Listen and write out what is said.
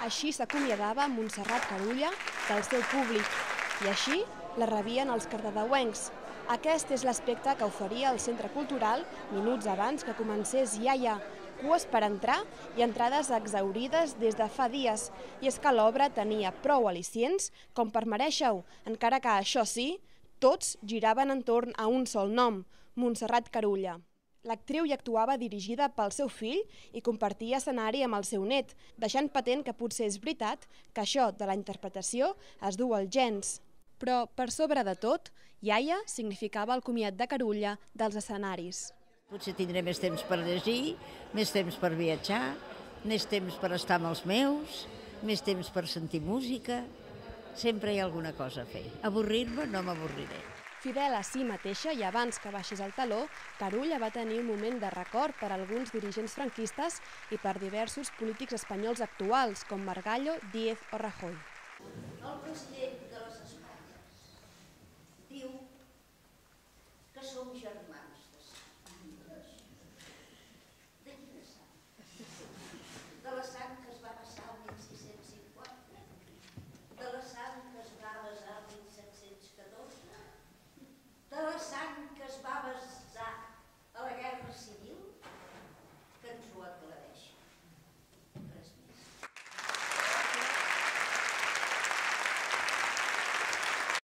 Així s'acomiadava Montserrat Carulla del seu públic i així la rebien els cardedeuencs. Aquest és l'aspecte que oferia el Centre Cultural minuts abans que comencés Iaia. Cues per entrar i entrades exhaurides des de fa dies. I és que l'obra tenia prou al·licients com per merèixer-ho, encara que, això sí, tots giraven entorn a un sol nom, Montserrat Carulla. L'actriu hi actuava dirigida pel seu fill i compartia escenari amb el seu net, deixant patent que potser és veritat que això de la interpretació es duu als gens. Però, per sobre de tot, Iaia significava el comiat de Carulla dels escenaris. Potser tindré més temps per llegir, més temps per viatjar, més temps per estar amb els meus, més temps per sentir música. Sempre hi ha alguna cosa a fer. Avorrir-me no m'avorriré. Fidel a si mateixa i abans que baixés el taló, Carulla va tenir un moment de record per a alguns dirigents franquistes i per diversos polítics espanyols actuals, com Margallo, Díez o Rajoy. El conseller